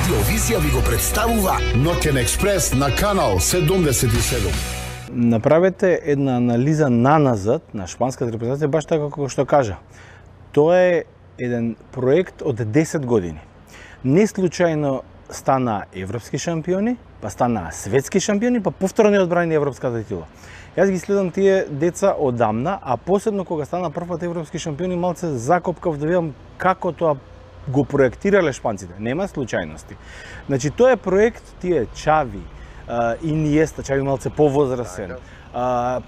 Радиовизија ви го представува Ноќен експрес на канал 77. Направете една анализа наназад на шпанската репрезентација, баш така како што кажа. Тоа е еден проект од 10 години. Не случајно стана европски шампиони, па стана светски шампиони, па повторно одбрани европската титула. Јас ги следам тие деца одамна, а посебно кога стана првпат европски шампиони, малце закопкав да видам како тоа го проектирале шпанците. Нема случајности. Значи, тоа е проект, тие Чави, Иниеста, Чави малце повозрасен,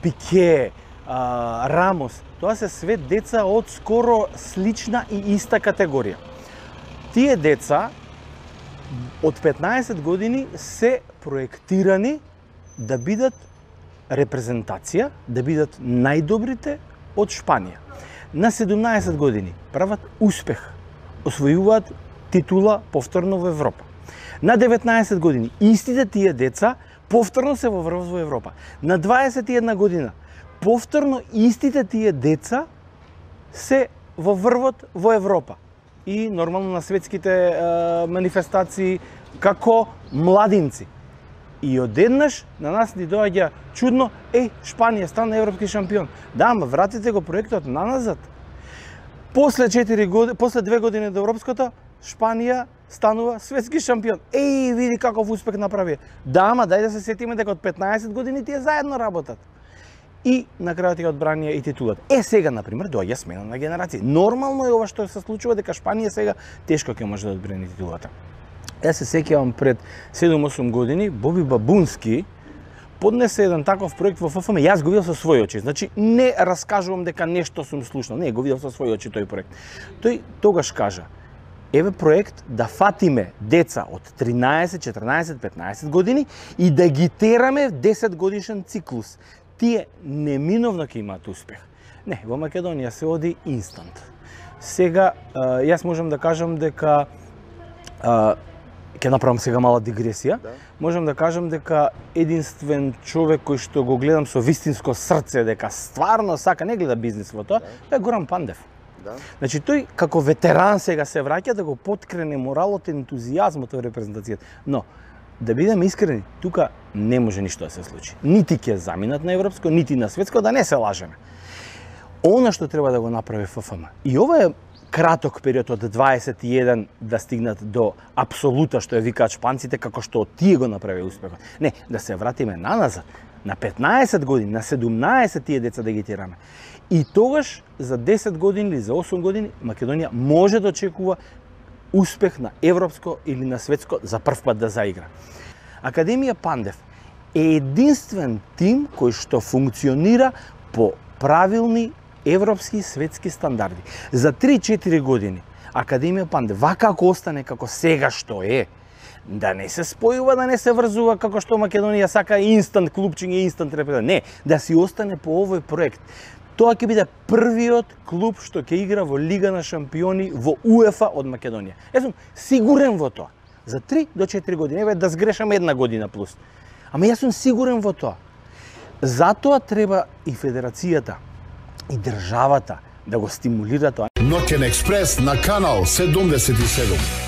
Пике, Рамос, тоа се све деца од скоро слична и иста категорија. Тие деца од 15 години се проектирани да бидат репрезентација, да бидат најдобрите од Шпанија. На 17 години прават успех, освојуваат титула повторно во Европа. На 19 години истите тие деца повторно се во врв во Европа. На 21 година повторно истите тие деца се во врвот во Европа. И нормално на светските манифестации како младинци. И одеднаш на нас ни доаѓа чудно, Шпанија стана европски шампион. Да, ама вратите го проектот наназад. После 2 години од европското, Шпанија станува светски шампион. Види каков успех направи. Да, ама дај да се сетиме дека од 15 години тие заедно работат. И на крајот ја одбранија и титулата. Сега, например, доаѓа смена на генерации. Нормално е ова што се случува, дека Шпанија сега тешко ќе може да одбрани титулата. Јас се сеќавам пред 7-8 години, Боби Бабунски поднесе еден таков проект во ФФМ, јас го видел со своји очи. Значи, не раскажувам дека нешто сум слушнал, не, го видел со своји очи тој проект. Тој тогаш кажа, еве проект да фатиме деца од 13, 14, 15 години и да ги тераме 10 годишен циклус. Тие неминовно ќе имаат успех. Не, во Македонија се оди инстант. Сега, јас можам да кажам дека ќе направам сега мала дигресија. Да. Можам да кажам дека единствен човек кој што го гледам со вистинско срце, дека стварно сака, не гледа бизнис во тоа, е Горан Пандев. Да. Значи тој како ветеран сега се враќа да го поткрене моралот и ентузијазмот во репрезентацијата. Но да бидеме искрени, тука не може ништо да се случи. Нити ќе заминат на европско, нити на светско, да не се лажеме. Она што треба да го направи ФФМ. И ова е краток период од 21 да стигнат до апсолута, што ја викаат шпанците, како што тие го направи успехот. Не, да се вратиме наназад, на 15 години, на 17 тие деца да ги тираме. И тогаш, за 10 години или за 8 години, Македонија може да очекува успех на европско или на светско за прв пат да заигра. Академија Пандев е единствен тим кој што функционира по правилни европски светски стандарди. За 3-4 години Академија Пандев, вака ако остане како сега што е, да не се спојува, да не се врзува како што Македонија сака инстант клубчиња, инстант репрезентација. Не, да си остане по овој проект. Тоа ќе биде првиот клуб што ќе игра во Лига на шампиони во УЕФА од Македонија. Јас сум сигурен во тоа. За 3 до 4 години, еве да сгрешам 1 година плюс. Ама јас сум сигурен во тоа. Затоа треба и федерацијата и државата да го стимулира тоа. Ноќен експрес на канал 77.